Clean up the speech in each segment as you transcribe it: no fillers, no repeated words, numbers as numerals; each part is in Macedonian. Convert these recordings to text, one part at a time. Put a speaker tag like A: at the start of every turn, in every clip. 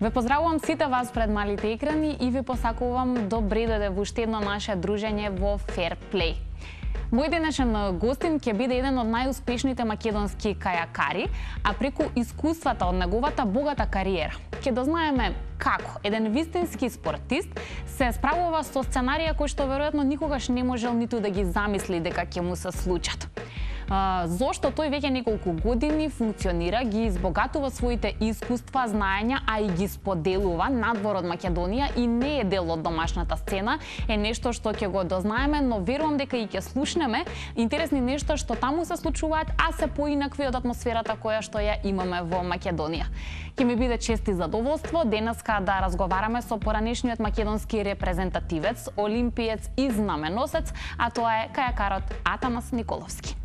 A: Ве поздравувам сите вас пред малите екрани и ви посакувам добре дојде во уште едно наше дружење во Fair Play. Мој денешен гостин ќе биде еден од најуспешните македонски кајакари, а преку искуствата од неговата богата кариера ќе дознаеме како еден вистински спортист се справува со сценарија кои што веројатно никогаш не можел ниту да ги замисли дека ќе му се случат. Зошто тој веќе неколку години функционира, ги избогатува своите искуства, знаења, а и ги споделува надвор од Македонија и не е дел од домашната сцена, е нешто што ќе го дознаеме, но верувам дека и ќе слушнеме интересни нешта што таму се случуваат, а се поинакви од атмосферата која што ја имаме во Македонија. Ќе ми биде чест и задоволство денеска да разговараме со поранешниот македонски репрезентативец, олимпиец и знаменосец, а тоа е кајакарот Атанас Николовски.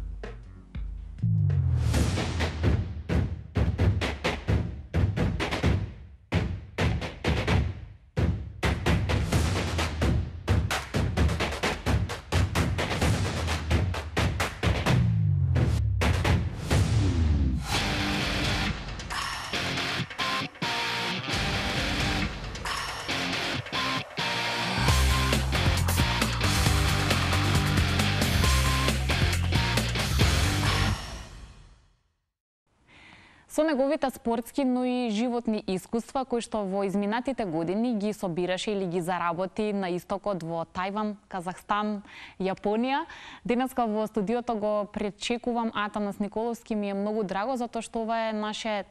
A: Со неговите спортски, но и животни искуства, кои што во изминатите години ги собираше или ги заработи на истокот во Тајван, Казахстан, Јапонија. Денеска во студиото го пречекувам Атанас Николовски, ми е многу драго затоа што ова е наше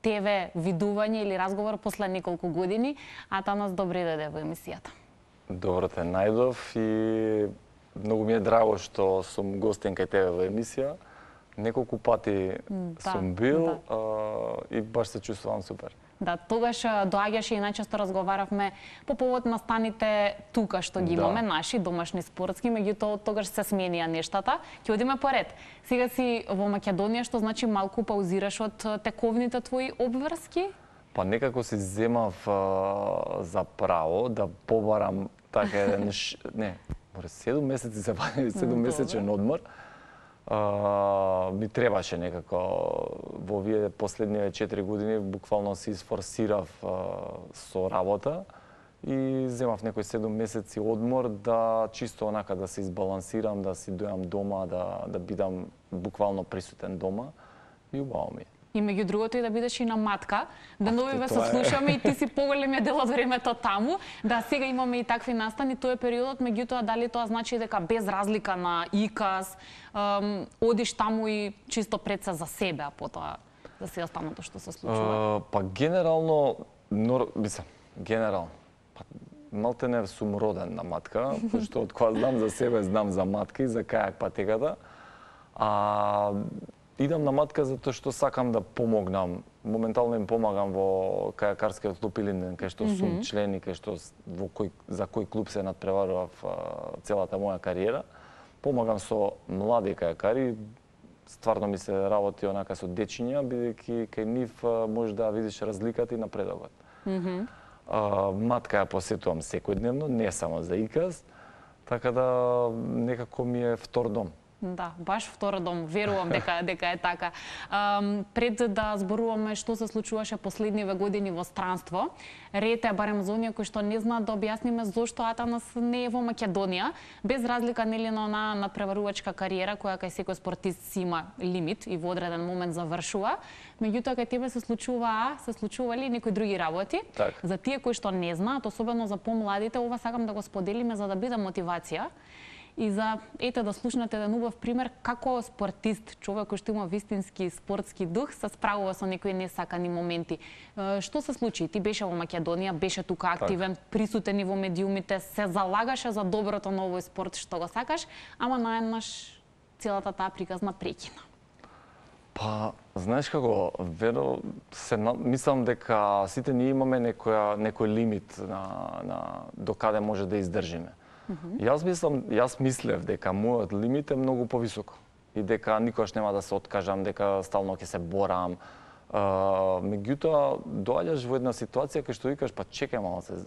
A: ТВ видување или разговор после неколку години. Атанас, добре дојде во емисијата.
B: Добро те најдов и многу ми е драго што сум гостин кај тебе во емисија. Неколку пати сум бил и баш се чувствувам супер.
A: Да, тогаш доаѓаше и најчесто разговаравме по повод настаните тука што ги имаме, наши домашни спортски, меѓутоа тогаш се сменија нештата. Ќе одиме поред. Сега си во Македонија, што значи малку паузираш од тековните твои обврски?
B: Па некако си земав за право да побарам така еден 7 месеци се вади, 7-месечен одмор. Ми требаше некако во овие последниве 4 години буквално се изфорсирав со работа и земав некои 7 месеци одмор да чисто онака да се избалансирам, да си дојам дома, да бидам буквално присутен дома и убаво ми е.
A: И меѓу другото и да бидеш и на матка, да новиве се слушаме и ти си поголемиот дел од времето таму. Да, сега имаме и такви настани, тој е периодот, меѓутоа дали тоа значи дека без разлика на иказ, одиш таму и чисто пред се за себе, а потоа за се останато што се случува?
B: Па генерално, малтене сум роден на матка, што од кога знам за себе, знам за матка и за кајак патеката. Идам на матка затоа што сакам да помогнам. Моментално им помагам во кајакарскиот клуб Илинден, кај што сум член и кај што за кој клуб се надпреварував целата моја кариера. Помагам со млади кајакари. Стварно ми се работи онака со дечиња, бидејќи кај нив може да видиш разликата и напредокот. Матка ја посетувам секојдневно, не само за иказ, така да некако ми е втор дом.
A: Да, баш втора дом, верувам дека е така. Пред да зборуваме што се случуваше последниве години во странство, ред е барем за оние кои што не знаат да објасниме зошто Атанас не е во Македонија, без разлика нели на онаа надпреварувачка кариера која кај секој спортист си има лимит и во одреден момент завршува. Меѓутоа кај тебе се случували некои други работи.
B: Так.
A: За тие кои што не знаат, особено за помладите, ова сакам да го споделиме за да биде мотивација. И за да слушнете еден убав пример како спортист, човек кој што има вистински спортски дух, се справува со некои несакани моменти. Што се случи? Ти беше во Македонија, беше тука активен, присутен и во медиумите, се залагаше за доброто на овој спорт што го сакаш, ама наеднаш целата таа приказна прекина.
B: Па, знаеш како, мислам дека сите ние имаме некој лимит на до каде може да издржиме. Јас мислев дека мојот лимит е многу повисоко и дека никогаш нема да се откажам, дека стално ќе се борам. Меѓутоа, доаѓаш во една ситуација кај што викаш, па чекај малце,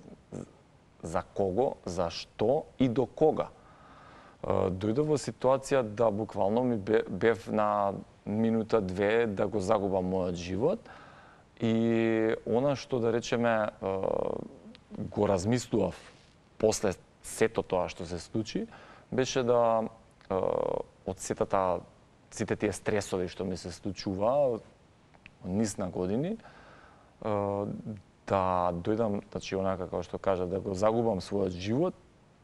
B: за кого, за што и до кога? Дојдов во ситуација да буквално ми бев на минута-две да го загубам мојот живот И она што да речеме го размислував после сето тоа што се случи, беше да од сите тие стресови што ми се случува низ на години, да дојдам, значи онака како што кажа, да го загубам својот живот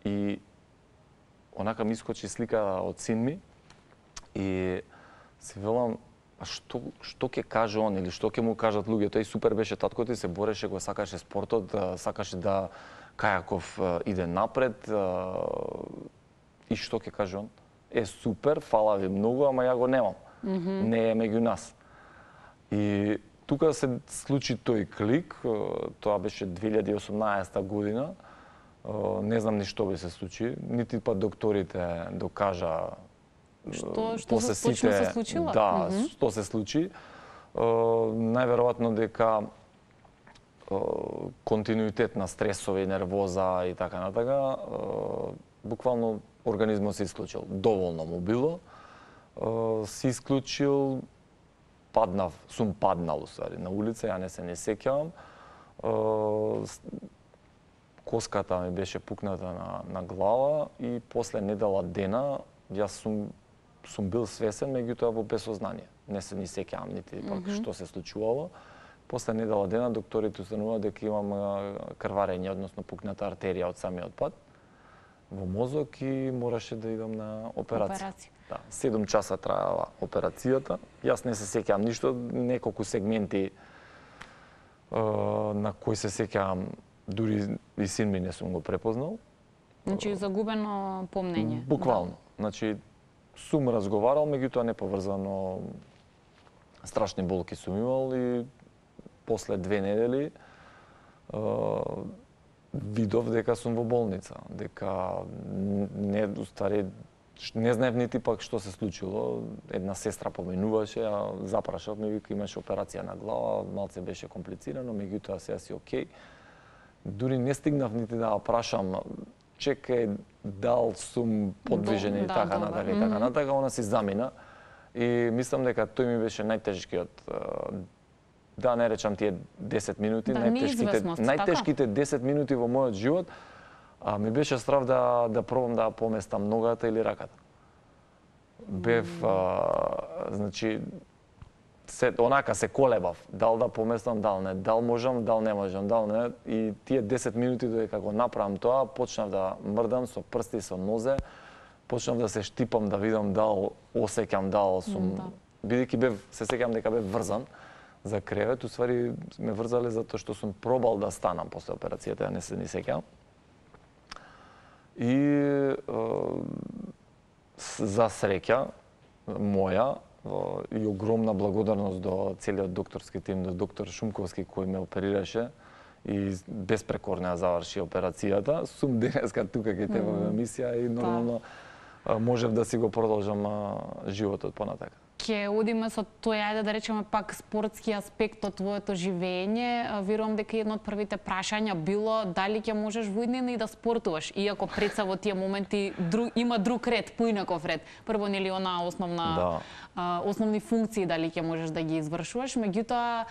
B: и онака ми искочи слика од син ми и си велам што ќе каже он или што ќе му кажат луѓе. Тој супер беше татко ти, се бореше, го сакаше спортот, сакаше да кајаков иде напред и што ќе каже он? Супер, фала ви многу, ама ја го немам. Не е меѓу нас. И тука се случи тој клик, тоа беше 2018 година. Не знам ни што би се случи, нити па докторите докажа
A: Што точно се случило?
B: Да, што се случи. Најверојатно дека континуитет на стресови, нервоза и така натака, буквално организмот се исклучил. Доволно му било. Се исклучил, сум паднал усвари на улица, ја не сеќавам. Коската ми беше пукната на глава и после недела дена јас сум бил свесен, меѓутоа во безсознание. Не се ни сеќавам нити пак што се случувало. После недела дена докторите установија дека имам крварење, односно пукната артерија од самиот пат во мозок и мораше да идам на операција. Да, 7 часа траела операцијата. Јас не се сеќавам ништо, неколку сегменти на кои се сеќавам, дури и син ми не сум го препознал.
A: Значи загубено помнење.
B: Буквално. Значи сум разговарал, меѓутоа неповрзано, страшни болки сум имал и после 2 недели видов дека сум во болница, дека не знаев нити пак што се случило. Една сестра поминуваше, ја запрашав, ми вика имаше операција на глава, малце беше комплицирано, меѓутоа сега си окей. Дури не стигнав нити да ја прашам, чекај, дал сум подвижен и така натака, она си замина. И мислам дека тој ми беше најтежкиот, да не речам тие 10 минути, најтешките 10 минути во мојот живот, ми беше страв да пробам да поместам ногата или раката. Бев, значи, онака се колебав, дал да поместам, дал не, дал можам, дал не можам, дал не. И тие 10 минути додека го направам тоа, почнав да мрдам со прсти, со нозе, почнав да се штипам, да видам дал осеќам, дал сум... Бидејќи се сеќам дека бев врзан за кревет, усвари ме врзале затоа што сум пробал да станам после операцијата, не се ни сеќам. И за среќа моја и огромна благодарност до целиот докторски тим, до доктор Шумковски кој ме оперираше и безпрекорно ја заврши операцијата. Сум денеска тука кај тебе во емисија и нормално можев да си го продолжам животот понатака.
A: Ќе одиме со тој, ајде да речеме пак спортски аспект од твоето живење. Верувам дека едно од првите прашања било дали ќе можеш во иднина и да спортуваш, иако пред се во тие моменти има друг ред, поинаков ред. Прво нели она основни функции дали ќе можеш да ги извршуваш, меѓутоа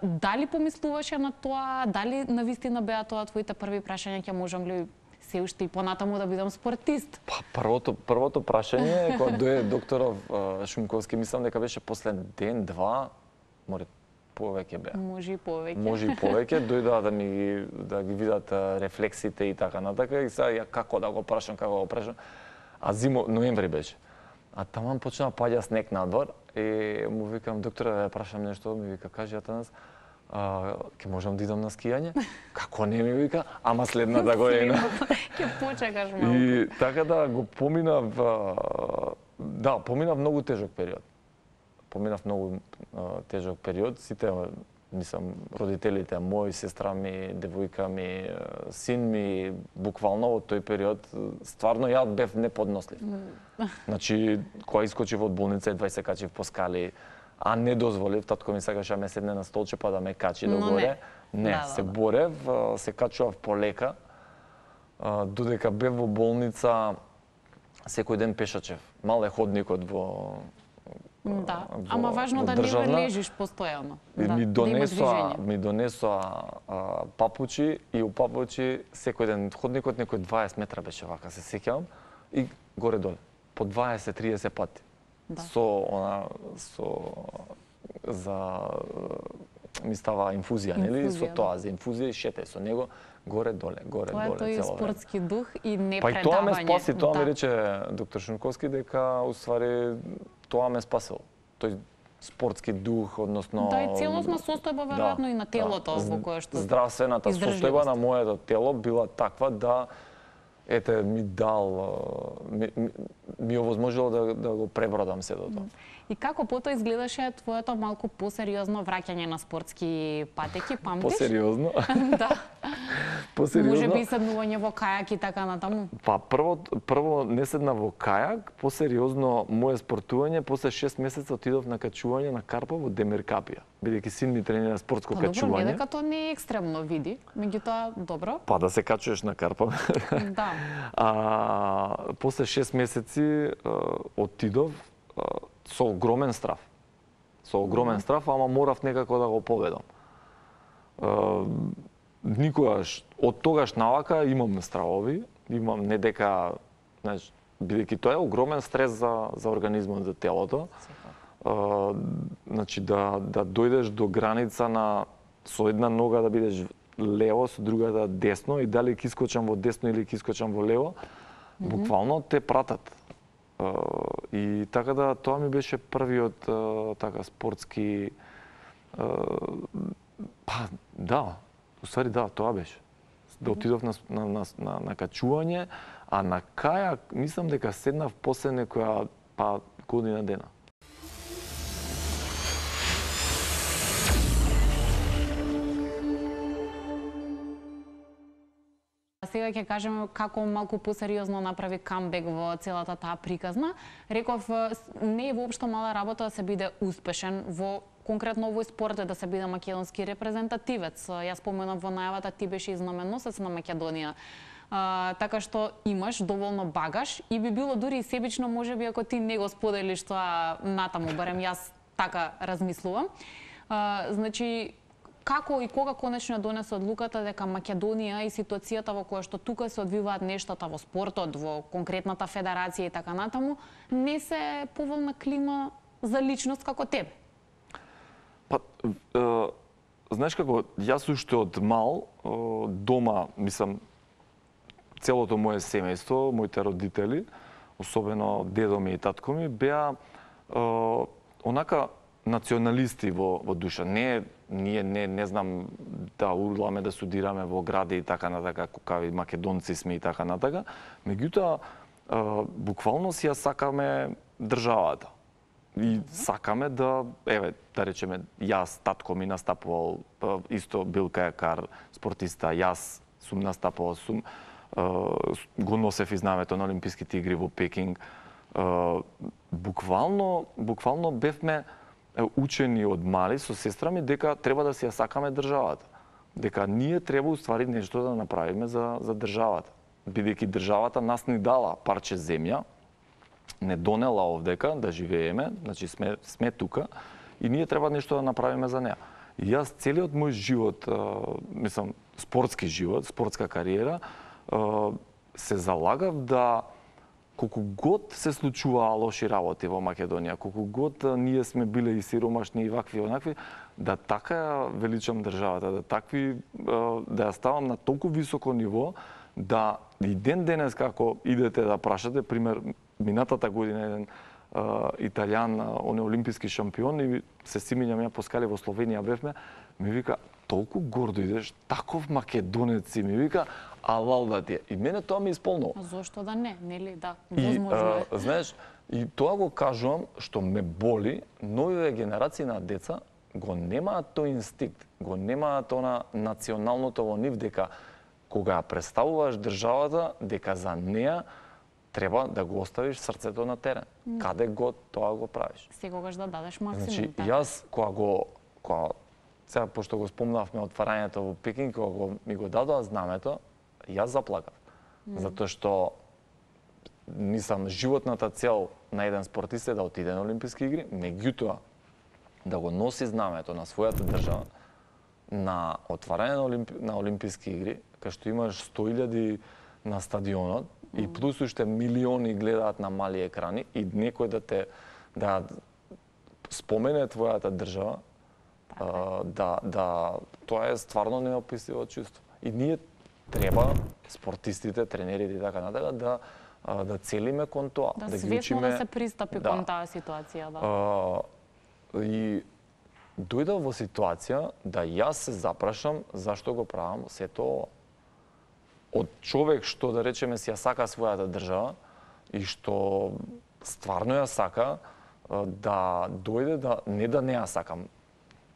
A: дали помислуваше на тоа, дали навистина беа тоа твоите први прашања, ќе можам ли се уште и понатаму да бидам спортист?
B: Првото прашање кога дојде докторов Шумковски, мислам дека беше после ден-два, може повеќе беа.
A: Може и повеќе.
B: Може и повеќе, дојдоа да ги видат рефлексите и така натака и сега како да го прашам, а ноември беше. А таман почна паѓа снег надвор и му викам докторе да ја прашам нешто, ми вика кажи Атанас, ќе можам да идам на скијање? Како не ми вика, ама следната година.
A: Ќе почекаш малку.
B: И така да го поминав многу тежок период. Сите, мислам, родителите мои, сестра ми, девојка ми, син ми, буквално во тој период, стварно ја бев неподнослив. Значи, кога искочив од болница, едва се качив по скали, а не дозволив, татко ми сакаше да ме седне на столче па да ме качи догоре. Не, се борев, се качував полека. Додека бев во болница, секој ден пешачев. Мал е ходникот
A: Да, ама важно да не лежиш постојано.
B: Ми донесоа папучи и у папучи секој ден ходникот некој 20 метра беше вака, се сеќавам, и горе-доле по 20-30 пати. За ми става инфузија, нели? Со тоа, за инфузија и шете со него горе-доле, горе-доле цело време.
A: Тоа е спортски дух и не
B: предавање. Па и тоа ме спаси, тоа ми рече доктор Шунковски дека уствари тоа ме спасило. Тој спортски дух, односно
A: да, и целосна состојба веројатно и на телото во кое што
B: здравствената состојба на моето тело била таква да ете ми овозможило да го пребродам сето тоа.
A: И како потоа изгледаше твоето малку посериозно враќање на спортски патеки, памтиш?
B: Посериозно?
A: Да.
B: Посериозно?
A: Може би седнување во кајак и така натаму?
B: Па прво не седна во кајак, посериозно мое спортување, после 6 месеца отидов на качување на карпа во Демиркапија, бидејќи син ми тренира спортско качување.
A: Добро, не дека тоа не е екстремно, види, меѓутоа добро.
B: Па да се качуваш на карпа.
A: Да.
B: После 6 месеци отидов со огромен страв. Со огромен страв, ама морав некако да го победам. Никогаш, од тогаш навака имам стравови, имам не дека, знаеш, бидејќи тоа е огромен стрес за организмот, за телото. Значи да дојдеш до граница на со една нога да бидеш лево, со другата десно и дали ќе искочам во десно или ќе искочам во лево, буквално те пратат. И така да тоа ми беше првиот така спортски па да, уствари да, тоа беше. Да отидов на качување, а на кајак мислам дека седнав после некоја па година дена.
A: Сега ќе кажеме како малку посериозно направи камбек во целата таа приказна. Реков, не е воопшто мала работа да се биде успешен во конкретно овој спорт, да се биде македонски репрезентативец. Јас споменав во најавата, ти беше знаменосец на Македонија. Така што имаш доволно багаж и би било дури и себично можеби ако ти не го споделиш тоа натаму, барем јас така размислувам. Значи, како и кога конечно донесе одлуката дека Македонија и ситуацијата во која што тука се одвиваат нештата во спортот, во конкретната федерација и така натаму, не се поволна клима за личност како тебе?
B: Па, знаеш како, јас уште од мал, дома, мислам, целото моje семејство, моите родители, особено дедо ми и татко ми, беа онака националисти во душа. Ние не знам да урламе да студираме во гради и така натака, какави македонци сме и така натака. Меѓутоа, буквално си ја сакаме државата. И сакаме да, еве, да речеме, јас, татко ми настапувал, исто бил кајакар, спортиста, јас сум настапувал, го носев и знамето на Олимписките игри во Пекинг. Буквално бевме учени од мали со сестра ми дека треба да си ја сакаме државата. Дека ние треба уствари нешто да направиме за државата. Бидејќи државата нас ни дала парче земја, не донела овдека да живееме, значи сме тука и ние треба нешто да направиме за неа. И јас целиот мој живот, мислам, спортски живот, спортска кариера, се залагав да колку год се случуваа лоши работи во Македонија, колку год ние сме биле и сиромашни и вакви и онакви, да така ја величам државата, да ја ставам на толку високо ниво, да и ден денес како идете да прашате, пример, минатата година еден италијан, он е олимписки шампион и се симињам ја по скали во Словенија бевме, ми вика, толку гордо идеш, таков македонец си, ми вика, алал да ти е. И мене тоа ми исполнува.
A: Зошто да не, нели, да, возможно е.
B: Знаеш, и тоа го кажувам, што ме боли, новите генерации на деца го немаат тој инстинкт, го немаат она националното во нив, дека кога ја представуваш државата, дека за неа треба да го оставиш срцето на терен. Каде го тоа го правиш.
A: Секогаш да дадеш максимум.
B: Значи, јас кога сега пошто го спомнавме отварањето во Пекинг, кога ми го дадоа знамето, јас заплакав. Затоа што животната цел на еден спортист е да отиде на Олимписки игри, меѓутоа да го носи знамето на својата држава на отварање на Олимписки игри, кај што имаш 100.000 на стадионот и плюс уште милиони гледаат на мали екрани и некој да спомене твојата држава, тоа е стварно неописливо чувство. И ние треба спортистите, тренерите и така натака да целиме кон тоа,
A: да ги учиме да се пристапи кон таа ситуација,
B: и дојдов во ситуација да јас се запрашам зашто го правам сето ова. Од човек што, да речеме, си ја сака својата држава и што стварно ја сака, да дојде не ја сакам,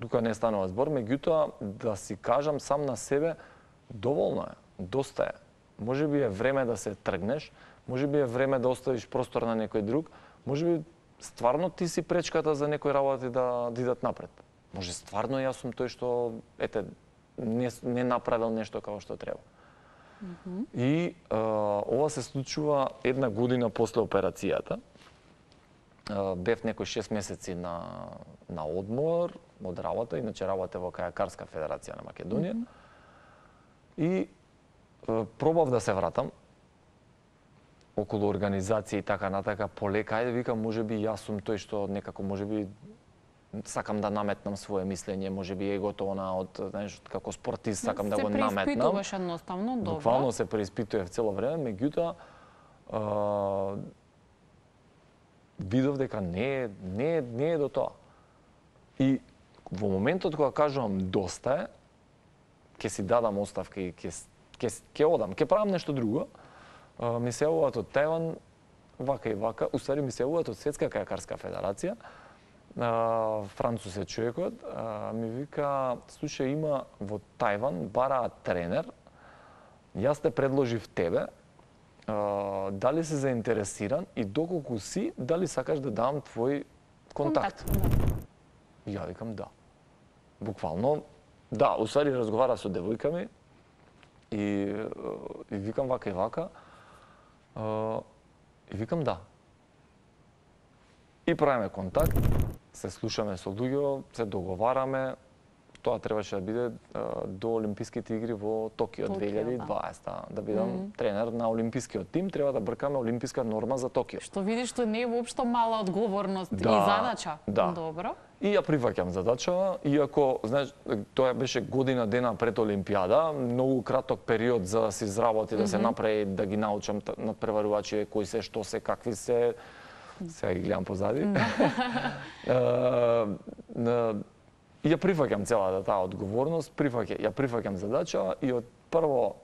B: тука не станува збор, меѓутоа да си кажам сам на себе, доволно е, доста е. Може би е време да се тргнеш, може би е време да оставиш простор на некој друг, може би стварно ти си пречката за некои работи да идат напред. Може стварно јас сум тој што не направил нешто како што треба. И ова се случува една година после операцијата. Бев некои 6 месеци на одмор од работа, иначе работев во Кајакарска федерација на Македонија. И пробав да се вратам околу организација и така натака, полека, ајде викам, можеби јас сум тој што некако можеби сакам да наметнам свое мислење, можеби егото од, знаеш, како спортист сакам да го наметнам.
A: Се преиспитуваш едноставно, добро.
B: Буквално се преиспитував цело време, меѓутоа видов дека не е до тоа. И во моментот кога кажувам доста е, ќе си дадам оставка и ќе одам, ќе правам нешто друго, ми се јавуваат од Тајван, вака и вака, уствари ми се јавуваат од Светска кајакарска федерација, Францус е човекот, ми вика, слушај, има во Тајван, бараат тренер, јас те предложив тебе, дали си заинтересиран и доколку си, дали сакаш да дам твој контакт? И ја викам да. Буквално, да, уствари разговара со девојка ми и викам вака и вака, и викам да. И правиме контакт, се слушаме со луѓе, се договараме. Тоа требаше да биде до Олимписките игри во Токио 2020, да бидам тренер на олимпискиот тим, треба да бркаме олимписка норма за Токио.
A: Што видиш, што не е воопшто мала одговорност и задача.
B: Да.
A: Добро.
B: И ја прифаќам задачава, иако, знаеш, тоа беше година дена пред Олимпијада, многу краток период за да се изработи, да се направи, да ги научам надпреварувачи кои се, што се, какви се. Сега ги гледам позади. И ја прифаќам целата таа одговорност, ја прифаќам задача и од прво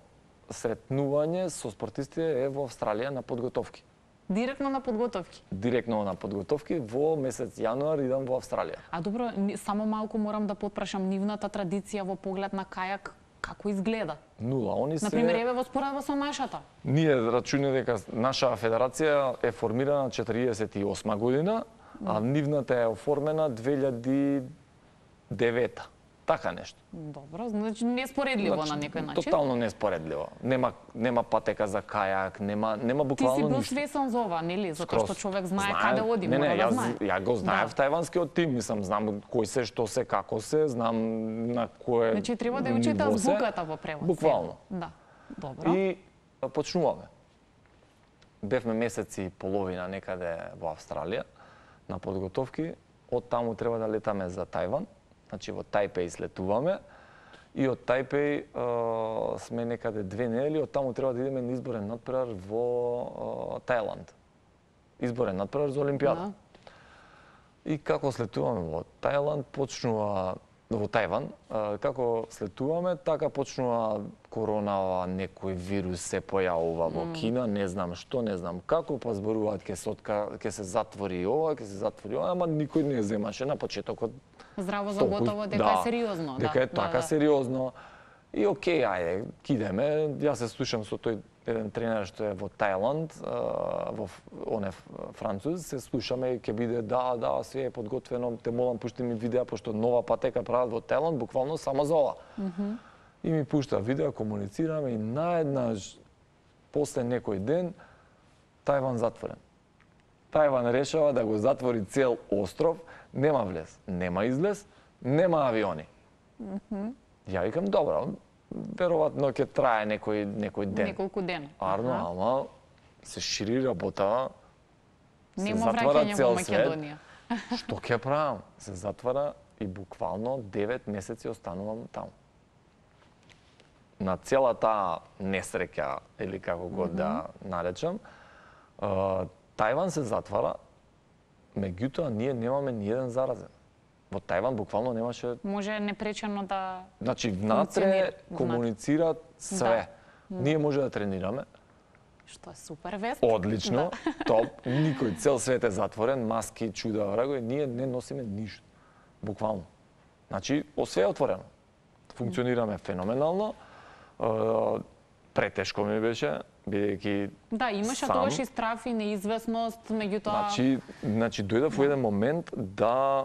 B: сретнување со спортистите е во Австралија на подготовки.
A: Директно на подготовки?
B: Директно на подготовки, во месец јануар идам во Австралија.
A: А добро, само малку морам да потпрашам нивната традиција во поглед на кајак, како изгледа?
B: Нула, они се...
A: Например, еве во споредба со нашата.
B: Ние рачуне дека наша федерација е формирана 48 година, а нивната е оформена 2009. Така нешто.
A: Добро, значи неспоредливо на некој начин.
B: Тотално неспоредливо. Нема патека за кајак, нема буквално ништо.
A: Ти си бил свесен за ова, нели? Затоа што човек знае каде оди, мора да знае.
B: Ја го знаев тајванскиот тим, мислам, знам кој се, што се, како се, знам на кое.
A: Значи треба да учите азбуката во превод.
B: Буквално.
A: Да. Добро.
B: И почнуваме. Бевме месеци и половина некаде во Австралија на подготовки. Од таму треба да летаме за Тајван. Значи во Тајпеј слетуваме и од Тајпеј сме некаде 2 недели, од таму треба да идеме на изборен надпревар во Тајланд. Изборен надпревар за Олимпијада. И како слетуваме во Тајланд, почнува во Тајван, како слетуваме, така почнува коронава, некој вирус се појавува во Кина, не знам што, не знам како, па зборуваат ќе се затвори ова, ќе се затвори ова, ама никој не земаше на почетокот.
A: Здраво за готово дека е сериозно,
B: дека е така сериозно. И окей, ајде, кидеме. Јас се слушам со тој еден тренер што е во Тајланд, он е француз, се слушаме и ќе биде да, све е подготвено, те молам пушти ми видеа пошто нова патека прават во Тајланд, буквално само за ова. И ми пушта видеа, комуницираме и наеднаш после некој ден Тајван затворен. Тајван решава да го затвори цел остров, нема влез, нема излез, нема авиони. Ја викам, добро, веројатно ќе трае некој ден.
A: Неколку дена.
B: Арно, ама се шири работа, се
A: Нема
B: затвара
A: враќање во
B: цел свет.
A: Македонија.
B: Што ќе правам? Се затвара и буквално 9 месеци останувам таму. На цела таа несреќа, или како го да наречам, Тајван се затвара, меѓутоа ние немаме ни еден заразен. Во Тајван буквално немаше...
A: Може непречено да...
B: Значи, внатре комуницираат све.
A: Да.
B: Ние може да тренираме.
A: Што е супер вест.
B: Одлично, топ. Никој, цел свет е затворен, маски, чуда, врагови, ние не носиме ништо. Буквално. Значи, све е отворено. Функционираме феноменално. Претешко ми беше, бидејќи
A: Да, имаше
B: сам.
A: тогаш и страф и неизвестност, меѓутоа...
B: Значи дојдов во еден момент да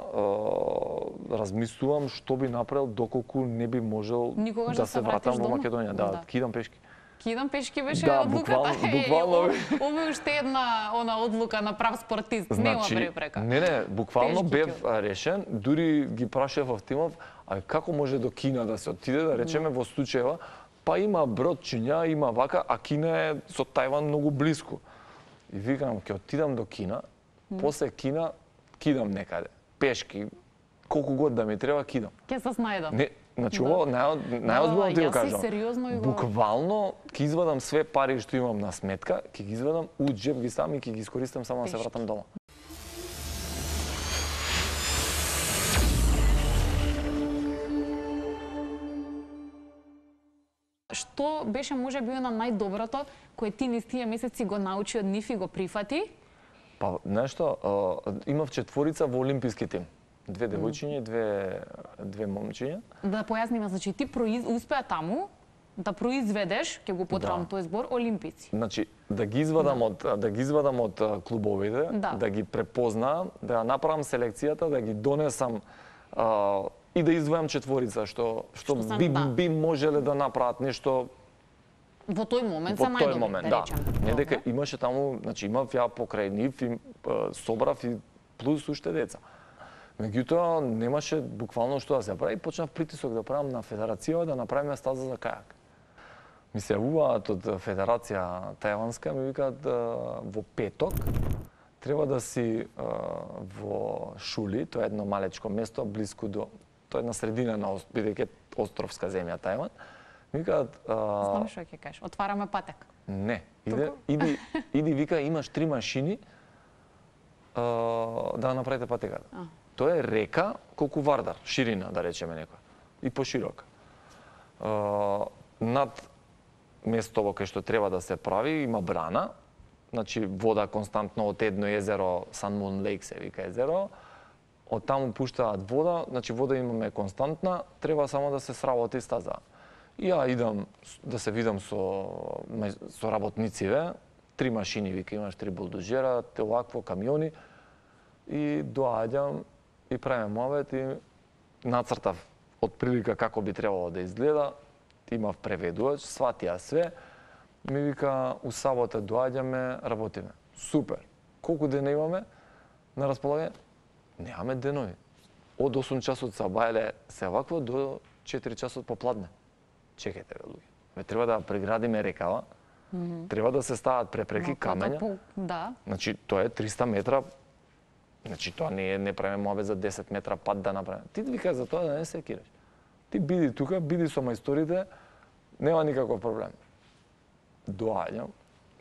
B: размислувам што би направил доколку не би можел
A: Никогаш
B: да се вратам во
A: дома?
B: Македонија. Да, кидам пешки.
A: Кидам пешки беше
B: Да,
A: одлуката.
B: буквално.
A: Ова е уште една одлука на прав спортист, нема препрека.
B: Не, буквално
A: Пешки
B: бев решен, дури ги прашав во тимов, а како може до Кина да се отиде, да речеме во случајва, па има бродчиња, има вака, а Кина е со Тајван многу блиску. И викам, ќе отидам до Кина, после Кина кидам некаде, пешки, колку год да ми треба кидам.
A: Ќе се снајдам.
B: Не, значи ово најозбилно ти го кажам.
A: Јас си сериозно и го...
B: Буквално ќе извадам све пари што имам на сметка, ќе ги извадам у џеб ги сам и ќе ги искористам само да се вратам дома.
A: Што беше можеби на најдоброто кое ти низ тие месеци го научи од нив и го прифати?
B: Па, нешто, имав четворица во олимписки тим. 2 девојчиња и 2 момчиња.
A: Да појасниме, значи ти успеа таму да произведеш, ќе го потребам тој збор, олимпици.
B: Значи, да ги извадам од клубовите, да ги препознаам, да ја направам селекцијата, да ги донесам и да издвојам четворица што би можеле да направат нешто
A: во тој момент
B: во
A: се
B: тој
A: најдобри,
B: момент,
A: да речем.
B: Не дека имаше таму, значи имав ја покрај нив и собрав и плюс уште деца. Меѓутоа немаше буквално што да се прави, почнав притисок да правам на федерацијава да направиме стаза за кајак. Ми се јавуваат од федерација тајванска, ми викаат во петок треба да си во Шули, тоа е едно малечко место блиску до, тоа е на средина на бидејќи островска земја Тајван. Ми викаат
A: Знам што ќе кажеш, отвараме патек.
B: Не, иди вика имаш 3 машини да направите патеката. Тоа е река колку Вардар, ширина да речеме некоја, и поширока. Над местово кај што треба да се прави има брана, значи вода константно од едно езеро, Sun Moon Lake се вика езеро, од таму пуштаат вода, значи вода имаме константна, треба само да се сработи стаза. И ја идам да се видам со работнициве, 3 машини, вика имаш 3 булдожера, овакво камиони, и доаѓам и правиме муавет и нацртав од прилика како би требало да изгледа, имав преведувач, сватија све, ми вика у сабота доаѓаме, работиме. Супер. Колку дена имаме на располагање? Немаме денови. Од 8 часот сабајле се вакво до 4 часот попладне. Чекајте бе луѓе. Ме треба да преградиме рекава, треба да се стават препреки, камења.
A: Да.
B: Значи тоа е 300 метра. Значи тоа не правиме муавет за 10 метра пат да направиме. Ти вика за тоа да не се киреш. Ти биди тука, биди со мајсторите, нема никаков проблем. Доаѓам,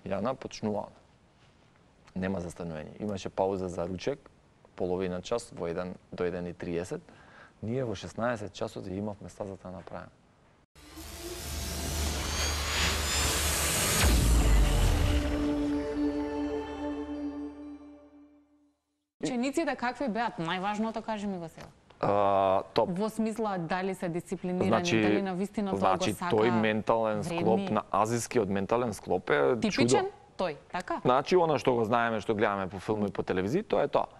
B: Јана, почнуваме. Нема застанување. Имаше пауза за ручек, половина час во 1 до 1:30. Ние во 16 часот ја имавме стазата да направиме.
A: Учениците какви беат? Најважното кажи ми го сега.
B: Топ.
A: Во смисла дали се дисциплинирани, дали навистина тоа го сака.
B: Тој ментален склоп на азискиот ментален склоп е
A: типичен тој, така?
B: Значи она што го знаеме, што гледаме по филми и по телевизија, тоа е тоа.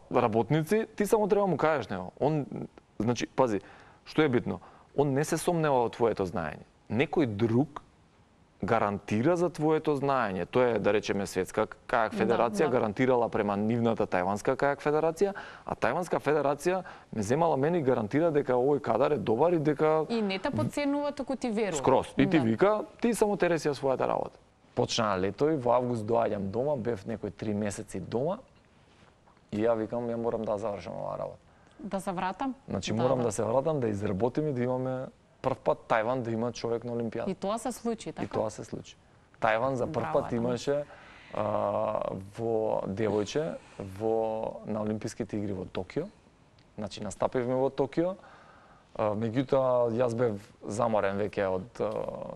B: Работници, ти само треба му кажеш него. Он, значи, пази, што е битно? Он не се сомнева во твоето знаење. Некој друг гарантира за твоето знаење. Тоа е, да речеме, Светска кајак федерација гарантирала према нивната Тајванска кајак федерација, а Тајванска федерација ме земала мене и гарантира дека овој кадар е добар и дека...
A: И не те подценува, туку ти верува.
B: Скроз. И ти вика, ти само тереси ја својата работа. Почна лето и во август доаѓам дома, бев некои 3 месеци дома и ја викам, ја морам да завршам оваа работа.
A: Да се вратам?
B: Значи морам да се вратам, да изработим и да имаме прв пат Тајван да има човек на Олимпијада.
A: И тоа се случи, така?
B: И тоа се случи. Тајван за прв пат имаше во девојче на Олимписките игри во Токио. Значи настапивме во Токио. Меѓутоа јас бев заморен веќе од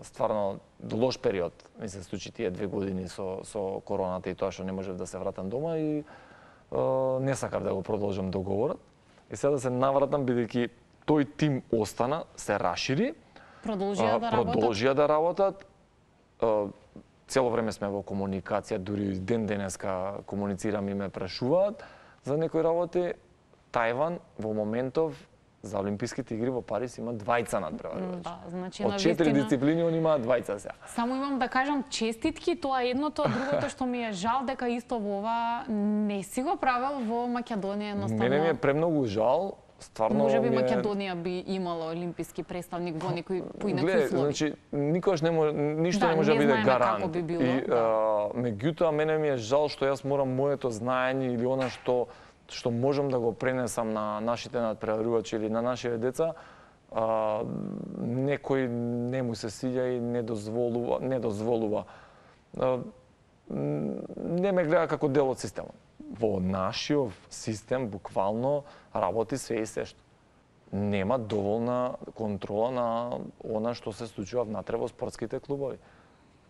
B: стварно лош период. Ми се случи тие 2 години со короната и тоа што не можев да се вратам дома и не сакав да го продолжам договорот. И сега да се навратам бидејќи тој тим остана, се расшири, продолжија да работат. Цело време сме во комуникација, дури ден денеска комуницирам и ме прашуваат за некои работи. Тајван во моментов за Олимписките игри во Париз има 2 надпреварувачи.
A: Да, значи
B: од 4 дисциплини он има 2 сега.
A: Само имам да кажам честитки, тоа е едното, а другото што ми е жал дека исто во ова не си го правел во Македонија едноставно.
B: Мене ми е премногу жал. Стварно
A: можеби Македонија би имала олимписки представник во некои поинакви услови.
B: Значи никош не може ништо не може да биде гарант.
A: Би било,
B: и меѓутоа мене ми е жал што јас морам моето знаење или она што можам да го пренесам на нашите надпреварувачи или на нашите деца, некој не му се сиѓа и не дозволува. Не ме гледа како дел од системот. Во нашиот систем буквално работи све и сешто. Нема доволна контрола на она што се случува внатре во спортските клубови.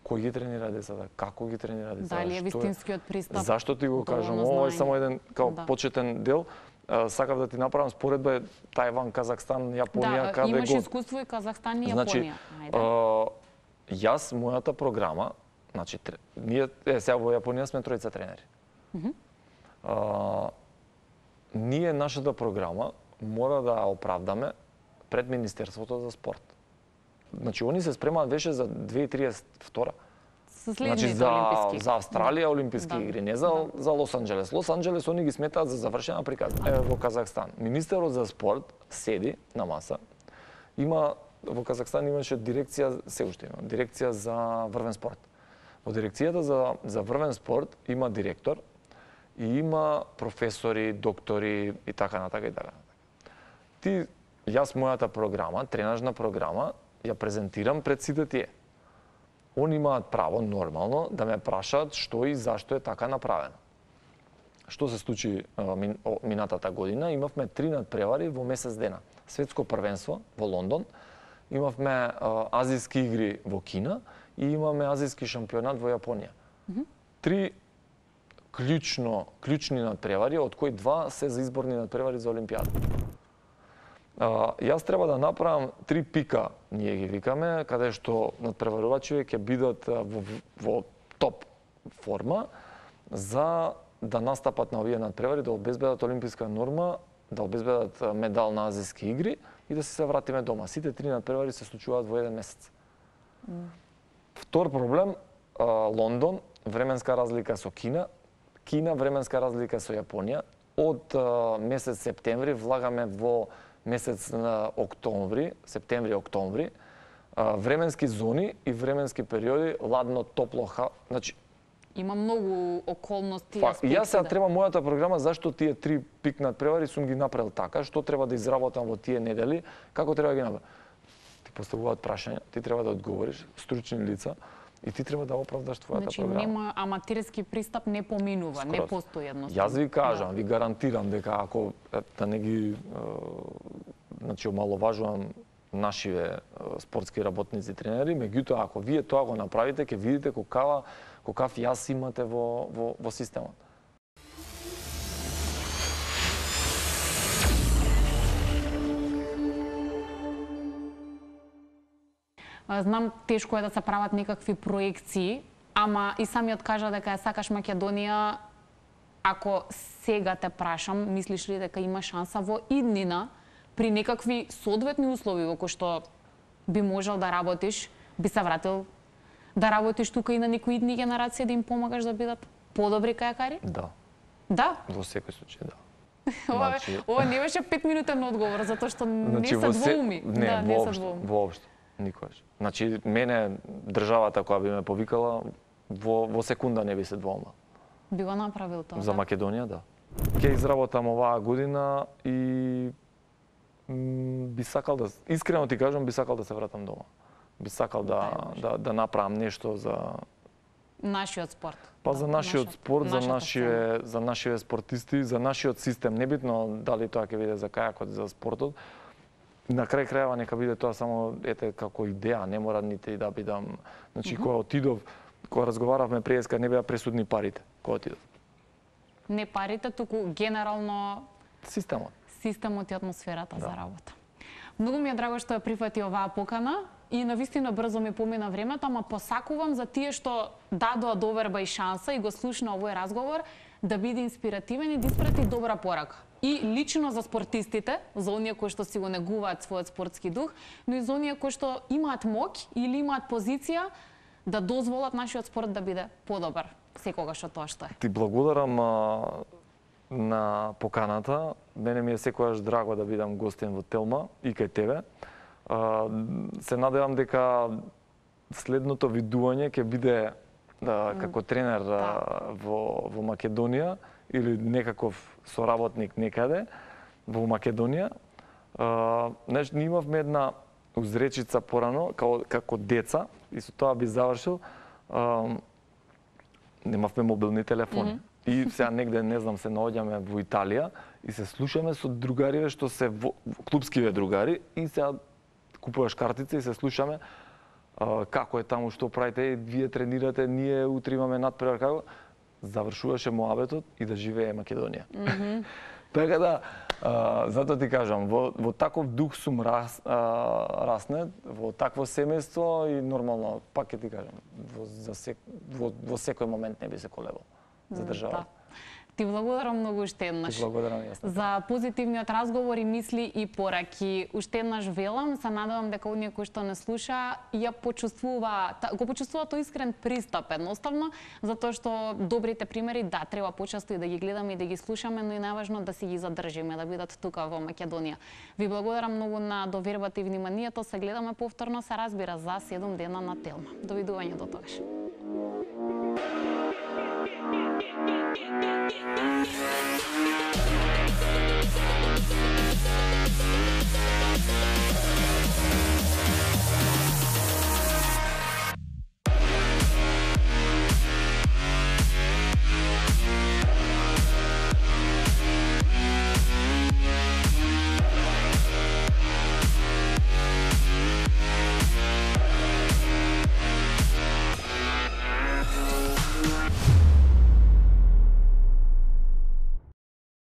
B: Кој ги тренира децата? Како ги тренира децата?
A: Дали е вистинскиот пристап?
B: Зашто ти го кажам? Ова е само еден почетен дел. Сакав да ти направам споредба Тајван, Казахстан, Јапонија,
A: каде имаш искуство и Казахстан и Јапонија.
B: Значи, јас мојата програма, значи ние сега во Јапонија сме 3 тренери. Ние нашата програма мора да оправдаме пред Министерството за спорт. Значи, они се спремаат веше за 2032. Значи, за Австралија олимписки игри, не за Лос Анџелес. Лос Анџелес они ги сметаат за завршена приказна. Во Казахстан. Министерот за спорт седи на маса. Во Казахстан имаше дирекција, се уште има, дирекција за врвен спорт. Во дирекцијата за врвен спорт има директор и има професори, доктори и така натака и така натака. Јас мојата програма, тренажна програма, ја презентирам пред сите тие. Они имаат право, нормално, да ме прашаат што и зашто е така направено. Што се случи минатата година? Имавме 3 надпревари во месец дена. Светско првенство во Лондон, имавме азиски игри во Кина и имаме азиски шампионат во Јапонија. 3 клучни надпревари, од кои 2 се за изборни надпревари за Олимпијада. Јас треба да направам 3 пика, ние ги викаме, каде што надпреварувачи ќе бидат во топ форма за да настапат на овие надпревари, да обезбедат олимписка норма, да обезбедат медал на азиски игри и да се вратиме дома. Сите 3 надпревари се случуваат во еден месец. Втор проблем, Лондон, временска разлика со Кина, временска разлика со Јапонија. Од месец септември влагаме во месец на октомври, септември-октомври, временски зони и временски периоди, ладно, топло, значи
A: има многу околности.
B: Јас сега треба мојата програма зашто тие 3 пик надпревари сум ги направил така, што треба да изработам во тие недели, како треба да ги направам. Ти поставуваат прашања, ти треба да одговориш, стручни лица, и ти треба да оправдаш твојата програма.
A: Значи нема аматерски пристап, не поминува, не постои едноставно.
B: Јас ви кажам, ви гарантирам дека ако да не ги омаловажувам нашиве спортски работници, тренери, меѓутоа ако вие тоа го направите, ќе видите какав јас имате во системот.
A: Знам, тешко е да се прават некакви проекции, ама и самиот кажа дека ја сакаш Македонија. Ако сега те прашам, мислиш ли дека има шанса во иднина при некакви соодветни услови во кои што би можел да работиш, би се вратил да работиш тука и на некои идни генерации да им помагаш да бидат подобри кајакари?
B: Да.
A: Да?
B: Во секој случај, да.
A: Ова не беше 5-минутен одговор, затоа што не се двоуми.
B: Не, воопшто, никогаш. Значи, мене државата која би ме повикала, во секунда не би се двоумал.
A: Би го направил тоа?
B: За Македонија, да. Ќе изработам оваа година и би сакал да, искрено ти кажам, би сакал да се вратам дома. Би сакал да направам нешто за
A: нашиот спорт.
B: Па за нашиот спорт, за нашите спортисти, за нашиот систем, небитно дали тоа ќе биде за кајакот, за спортот. На крај крајава нека биде тоа само ете како идеја, не мора нити да бидам. Значи кога отидов, кога разговаравме преска, не беа пресудни парите кога отидов.
A: Не парите, туку генерално системот и атмосферата за работа. Многу ми е драго што ја прифати оваа покана и навистина брзо ми помина времето, ама посакувам за тие што дадоа доверба и шанса и го слушна овој разговор да биде инспиративен и да испрати добра порака. И лично за спортистите, за оние кои што си го негуваат својот спортски дух, но и за оние кои што имаат моќ или имаат позиција да дозволат нашиот спорт да биде подобар секогаш од тоа што е.
B: Ти благодарам на поканата. Мене ми е секогаш драго да бидам гостин во Телма и кај тебе. Се надевам дека следното видување ќе биде како тренер во Македонија или некаков соработник некаде во Македонија. Ние имавме една узречица порано како деца и со тоа би завршил. Немавме мобилни телефони. И сега негде, не знам, се наоѓаме во Италија и се слушаме со другариве што се клубскиве другари и сега купуваш картица и се слушаме како е таму, што правите, вие тренирате, ние утре имаме надпревар, како завршуваше моабетот и да живее Македонија. Така да, затоа ти кажам, во таков дух сум раснет, во такво семејство и нормално, пак ќе ти кажам, во секој момент не би се колебал за држава.
A: Ти благодарам многу уште еднаш.
B: Ти благодарам јас.
A: За позитивниот разговор и мисли и пораки. Уште еднаш велам, се надевам дека оние кои што не слуша го почувствува тој искрен пристап едноставно, затоа што добрите примери да треба почесто и да ги гледаме и да ги слушаме, но и најважно да си ги задржиме, да бидат тука во Македонија. Ви благодарам многу на довербата и вниманието. Се гледаме повторно, се разбира, за 7 дена на Телма. Довидување до тогаш.